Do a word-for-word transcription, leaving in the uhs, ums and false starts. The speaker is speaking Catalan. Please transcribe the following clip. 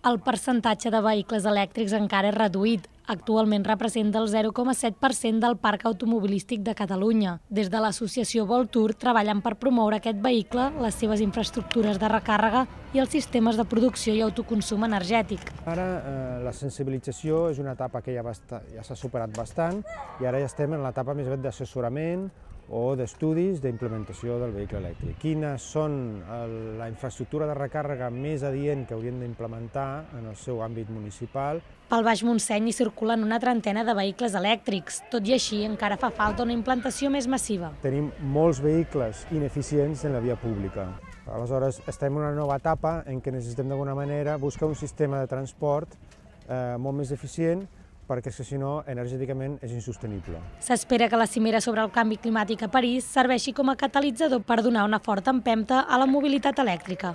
El percentatge de vehicles elèctrics encara és reduït. Actualment representa el zero coma set per cent del parc automobilístic de Catalunya. Des de l'associació Voltur treballen per promoure aquest vehicle, les seves infraestructures de recàrrega i els sistemes de producció i autoconsum energètic. Ara eh, la sensibilització és una etapa que ja, ja s'ha superat bastant i ara ja estem en l'etapa més aviat d'assessorament o d'estudis d'implementació del vehicle elèctric. Quines són el, la infraestructura de recàrrega més adient que haurien d'implementar en el seu àmbit municipal. Pel Baix Montseny hi circulen una trentena de vehicles elèctrics. Tot i així, encara fa falta una implantació més massiva. Tenim molts vehicles ineficients en la via pública. Aleshores, estem en una nova etapa en què necessitem d'alguna manera buscar un sistema de transport eh, molt més eficient, perquè si no, energèticament és insostenible. S'espera que la cimera sobre el canvi climàtic a París serveixi com a catalitzador per donar una forta empenta a la mobilitat elèctrica.